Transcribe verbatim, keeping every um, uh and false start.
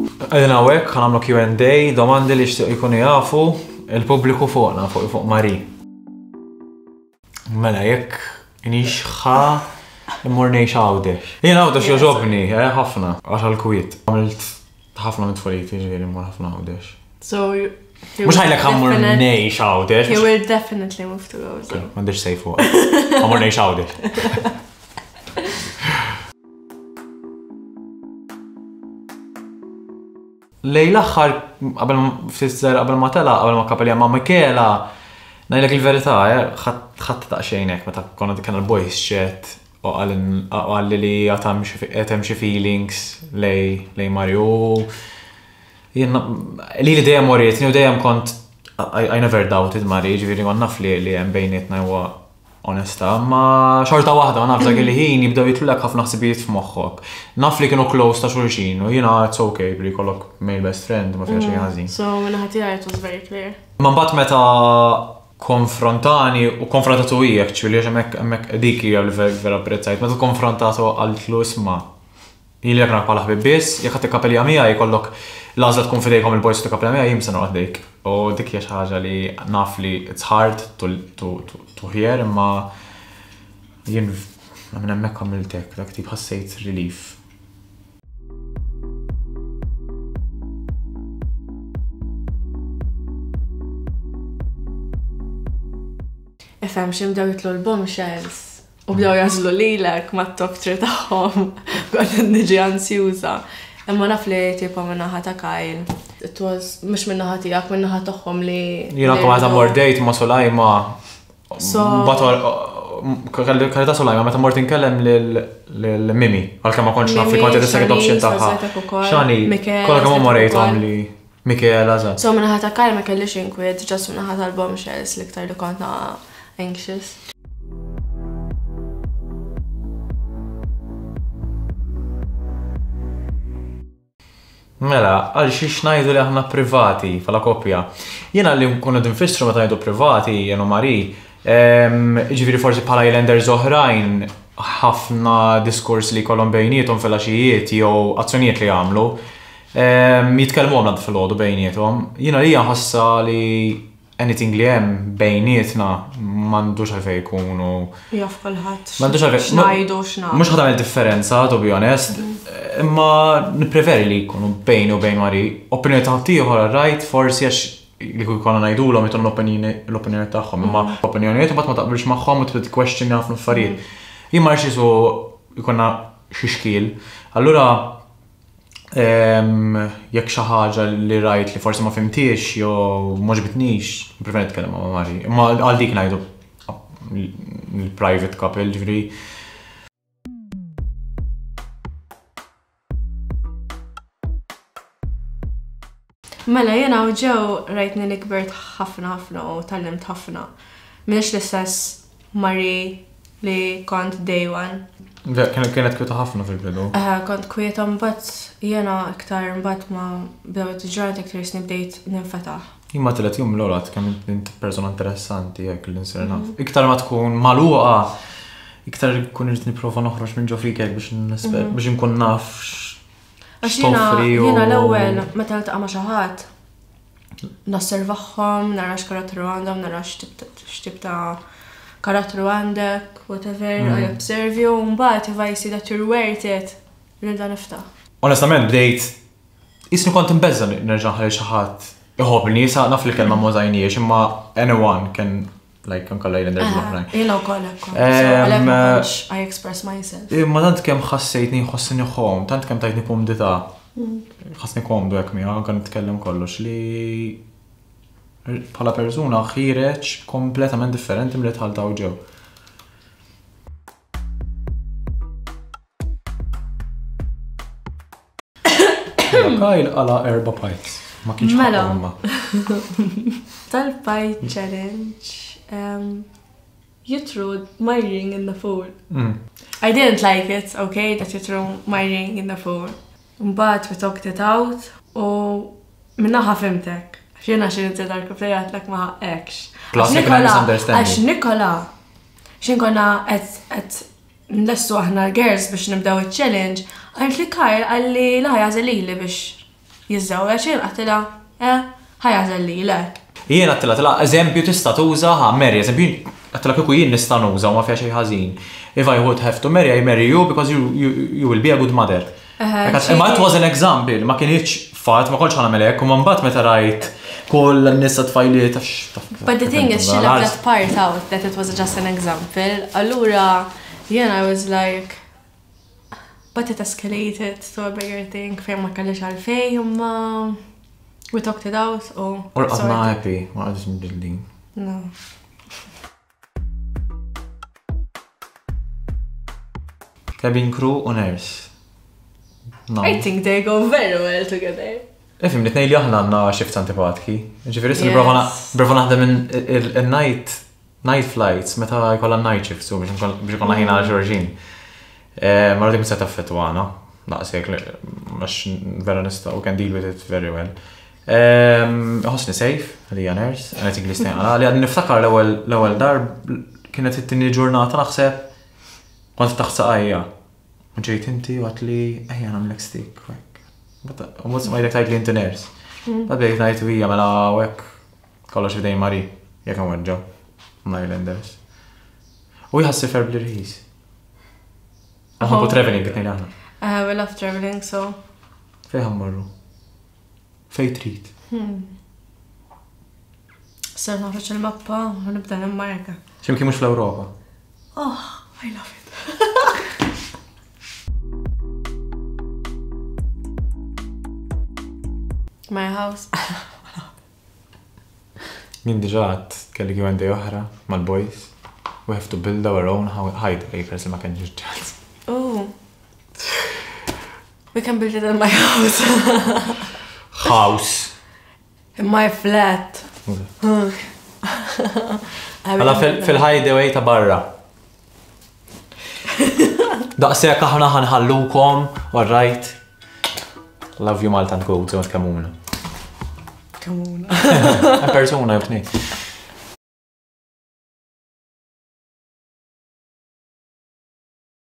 Qegħdin hawnhekk ħa nagħmlu Q and A, domandi li jixtiequ jkunu jafu il-pubbliku fuqna, fuq fuq Marie. Mela, jekk inix ħa immur ngħix Għawdex. Jien Għawdex jogħġobni, eh, ħafna, għax għall-kwiet. Għamilt ħafna minn tfuliti, ġifieri mmur ħafna Għawdex. So, you Mhux ħajlek ħa mmur definite- ngħix Għawdex. He will definitely move to Gozo. M'għandix sej fuq. Ħa mmur ngħix Għawdex. Lejn l-aħħar, qabel ftit żgħar qabel ma tela, qabel ma kapelja ma' Michela, ngħidlek il-verità, eh, ħadd taqxejn hekk meta konna dik il-boys chat u qalli li għad hemm xi feelings lej lej Mario. Jien li li dejjem warietni u dejjem kont I, I never doubted Mari, ġifieri kont naf li li hemm bejnietna huwa onesta, ma xorta waħda ma naf dak il-ħin jibdew jitlulek ħafna ħsibijiet f'moħħok. Naf li kienu close ta' xulxin u jiena it's okay li jkollok male best friend ma fiha xejn ħażin. So minn ħadd tiegħi it was very clear. Ma mbagħad meta konfrontani u konfrontatu hi, actually, għax hemmhekk, hemmhekk dik hija li ver-, vera apprezzajt, meta konfrontatu qaltlu isma' jien li jekk bħala ħbib biss, jekk ħadd ikkapelja miegħi jkollok l-għażla tkun fidejkom il-boys tikkapelja miegħi, jien se noqgħod dik. U dik hija xi ħaġa li naf li it's hard to, to, to, to hear, imma jien minn hemmhekk għamilt hekk, dak tip ħassejt relief. Ifhem xi bdew jitlu l-bombshells u bdew jażlu lilek mat-top three tagħhom, kont niġi ansjuża. Imma naf li tipo min-naħa ta' Kyle, it was mhux min-naħa tiegħek, min-naħa tagħhom li Jiena kont meta mort date ma' Sulajma, So mbagħad kelli ta' Sulajma meta mort inkellem lil, lil Mimi, għalkemm ma kontx naf li kont qed second option Mimi, tagħha. Shanice, Azetek ukoll, Shani, Michela, kollha kemm huma Azetek rejthom ukoll. li Michela, eżatt. So min-naħa ta' Kyle ma kellix inkwiet, just min-naħa tal-bombshells l-iktar li kont naqa' anxious. Mela, għal xiex ngħidu li aħna privati bħala koppja. Jiena li nkunu qegħdin nfissru meta ngħidu privati, jien u Marie, ehm, ġifieri forsi bħala Islanders oħrajn ħafna diskors li jkollhom bejniethom fil-għaxijiet jew azzjonijiet li jagħmlu, ehm, jitkellmu għamla fil-għodu bejniethom. Jiena li ħassa li anything li hemm bejnietna m'għandux għalfejn jkunu. Jaf kulħadd. M'għandux għalfejn. X'ngħidu, x'nagħmlu. Mhux ħa tagħmel differenza, to be honest, imma nippreferi li jkunu bejni u bejn Marie. Opinjoni ta' ħaddieħor, right, forsi għax li kieku konna ngħidulhom jitolhom l-opinjoni, l-opinjoni tagħhom, imma Mm. opinjonijiet imbagħad ma taqbilx magħhom u tibda tikkwestjoni ħafna affarijiet. Jien ma rridx isu jkollna xi xkiel. Allura, ehm, jekk xi ħaġa li rajt li forsi ma fimtiex jew ma ġbitnix, nippreferi nitkellem ma' Marie. Imma għal dik ngħidu il-private couple, ġifieri. Mela, jiena u ġew rajtni li kbert ħafna ħafna u tgħallimt ħafna. M'iniex l-istess Marie li kont day one. Ve, kienet, kienet kwieta ħafna fil-bidu. Eh, kont kwieta mbagħad jiena iktar mbagħad ma bdew it-ġranet iktar jisni bdejt ninfetaħ. Jien ma tliet jum l-ewwel għad kemm int persona interessanti hekk li nsir naf. Iktar ma tkun magħluqa, iktar ikun irid nipprova noħroġ minn ġo fik hekk biex nisper, Mhm. biex inkun naf x- Għax jiena x'toffri u jiena l-ewwel meta niltaqa' ma' xi ħadd, nosservahom, nara x'karattru għandhom, nara x'tip ta', x'tip ta' karattru għandek, whatever, Mm. I observe you, u mbagħad if I see that you're worth it, nibda niftaħ. Onestament bdejt, jisni kont imbeżza nerġa' nħalli xi ħadd iħobbni, sa naf li kelma ma użajniex, imma anyone can, like, anke l-Islanders Eh, l-oħrajn. Jiena wkoll hekk kont. So, Em, għalhekk ma kontx I express myself. Imma tant kemm ħassejtni nħossni ħom, tant kemm tajtni kumdità. Mm. Ħassni komdu hekk miegħek, anke nitkellem kollox li bħala persuna ħireġ kompletament differenti milli tħaltaw ġew. Kyle qala erba' pints. Ma kienx Mela. ħaqhom imma. Tal-pie challenge, um, you threw my ring in the pool. Mm. I didn't like it, okay, that you threw my ring in the pool. Mbagħad we talked it out u minnaħa fimtek. X'jiena xi inti dark play għedtlek ma ħaqqekx. Plus Għax li kien hemm Nikola, misunderstanding. għax Nikola, x'in konna qed, qed nlestu aħna l-girls biex nibdew iċ-challenge, għalt li Kyle qalli la jażel lili biex jiżżewweġ, jien għedtilha, eh, ħa jagħżel lilek. Jien għedtilha, għedtilha, eżempju tista' tuża, ħa, marry, eżempju, għedtilha kieku jien nista' nuża u ma fiha xejn ħażin. If I would have to marry, I marry you because you, you, you will be a good mother. Imma it was an example, ma kienx fatt, ma kontx ħa nagħmel hekk, u mbagħad meta rajt kull n-nisa tfajliet. But the thing is, she left that part out, that it was just an example. Allura, jien I was like, but it escalated to a bigger thing, fejn ma kellix għalfejn, imma we talked it out, u. U rqadna happy, ma qgħadx nġildin. No. Cabin crew u nurse. No. I think they go very well together. Ifhem, li li aħna għandna shifts antipatki. Ġifieri issa nipprova naħdem il-night night flights meta jkollha night shifts u biex ikollna ħin għal xulxin. Ma dik se taffettwana, daqshekk għax vera nista' u can deal with it very well. Ħossni safe, li hija nurse, and I think li stejn li għadni niftakar l-ewwel darb kienet it-tieni ġurnata naħseb kont taħt saqajja. U ġejt inti u għedtli ejja nagħmlek stick. U mbagħad smajtek tgħid li inti nurse. Bad bejt ngħid hija mela hekk kollox f'idejn Mari jekk nweġġgħu. Islanders. U jħassi ferb li rħis. Nħobbu traveling it-tnejn aħna. We love traveling, so. Fejn ħa mmorru? Fejn trid? Ser noħroġ il-mappa u nibda nimmarka. X'imkien mhux fl-Ewropa. Oh, I love it. My house. Min diġà għad kelli Q and A oħra mal-boys. We have to build our own hideaway, peress li ma kenniex ċans. Oh. We can build it in my house. House. In my flat. Għala fil-hideaway ta' barra. Daqshekk aħna ħanħallukom, all right. Love you Malta and go, żewġ kamuna. Kamuna. Persona, jobtni.